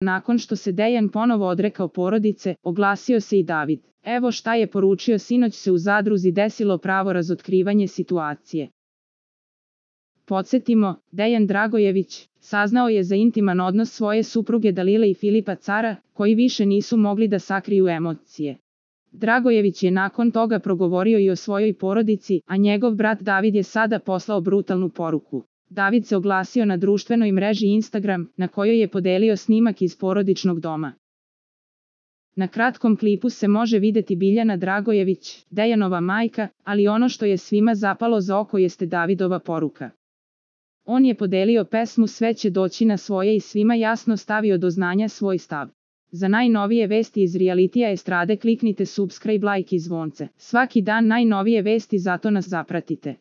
Nakon što se Dejan ponovo odrekao porodice, oglasio se i David. Evo šta je poručio: sinoć se u Zadruzi desilo pravo razotkrivanje situacije. Podsjetimo, Dejan Dragojević saznao je za intiman odnos svoje supruge Dalile i Filipa Cara, koji više nisu mogli da sakriju emocije. Dragojević je nakon toga progovorio i o svojoj porodici, a njegov brat David je sada poslao brutalnu poruku. David se oglasio na društvenoj mreži Instagram, na kojoj je podelio snimak iz porodičnog doma. Na kratkom klipu se može videti Biljana Dragojević, Dejanova majka, ali ono što je svima zapalo za oko jeste Davidova poruka. On je podelio pesmu Sve će doći na svoje i svima jasno stavio do znanja svoj stav. Za najnovije vesti iz realitija estrade kliknite subscribe, like i zvonce. Svaki dan najnovije vesti, zato nas zapratite.